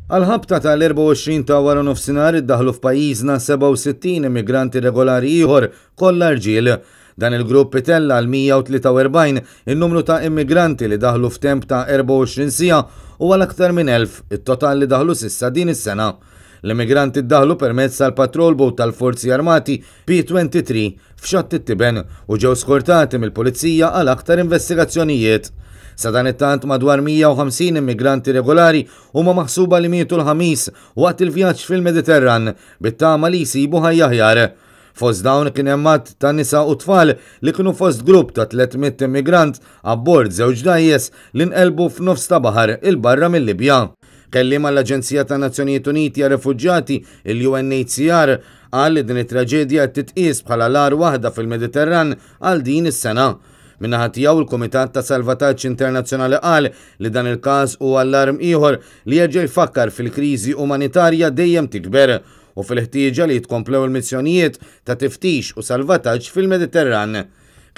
Għall-ħabta tal-24 ta' waranofsinhar iddaħħlu f'pajjiżna 67 immigranti irregolari ieħor, kollha rġiel. Dan il-grupp itella' għal 143 in-numru ta' immigranti li daħlu f'temp ta' 24 siegħa u għal aktar minn 1,000 it-total li daħlu s'issa din is-sena. L-immigranti ddaħlu permezz tal-patrol boat tal-Forzi Armati P-23 f'Xatt it-Tiben u ġew skortati mill-Pulizija għal aktar investigazzjonijiet. Sadanittant madwar 150 immigranti regolari huma maħsuba li mietu l-Ħamis waqt il-vjaġġ fil-Mediterran bit-tama li jsibu ħajja aħjar. Fost dawn kien hemm għadd ta' nisa u tfal li kienu fost grupp ta' 300 immigrant abbord żewġ dgħajjes li nqelbu f'nofs ta' baħar 'il barra mil-Libja. Kelliem għall-Aġenzija tan-Nazzjonijiet Uniti għar-Refuġjati, il-UNHCR, qal li din it-traġedja qed titqies bħala l-agħar waħda fil-Mediterran għal din is-sena. Min-naħa tiegħu, il-Kumitat ta' Salvataġġ Internazzjonali qal li dan il-każ hu allarm ieħor li jerġa' jfakkar fil-kriżi umanitarja dejjem tikber u fil-ħtieġa li jitkomplew il-missjonijiet ta' tiftix u salvataġġ fil-Mediterran.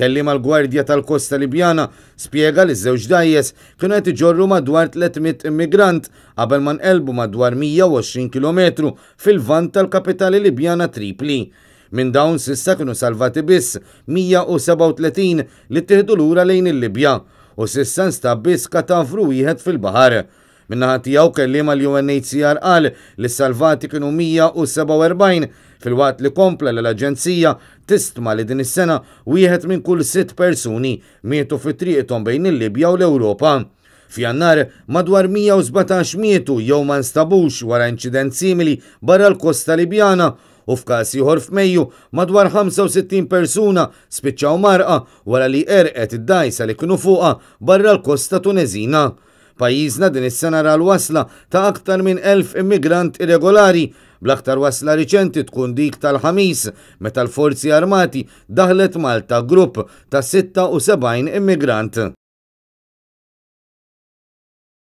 Kelliem għall-Gwardja tal-Kosta Libjana spjega li ż-żewġ dgħajjes kienu qed iġorru madwar 300 immigrant qabel ma nqelbu madwar 120 kilometru fil-Lvant tal-kapitali Libjana Tripli. Minn dawn s'issa kienu salvati biss 137 li ttieħdu lura lejn il-Libja u s'issa nstab biss katavru wieħed fil-baħar. Min-naħa tiegħu kelliem għall-UNHCR qal li s-salvati kienu 147 filwaqt li kompla li l-aġenzija tistma li din is-sena wieħed minn kull sitt persuni mietu fi triqthom bejn il-Libja u l-Ewropa. F'Jannar, madwar 117 mietu jew ma nstabux wara inċident simili barra l-kosta Libjana u f'każ ieħor f'Mejju, madwar 65 persuna spiċċaw mgħarrqa wara li għerqet id-dgħajsa li kienu fuqha barra l-kosta Tuneżina. Pajjiżna din is-sena ra l-wasla ta' aktar minn 1,000 immigrant irregolari, bl-aktar wasla riċenti tkun dik tal-Ħamis meta l-Forzi Armati daħlet Malta grupp ta' 76 immigrant.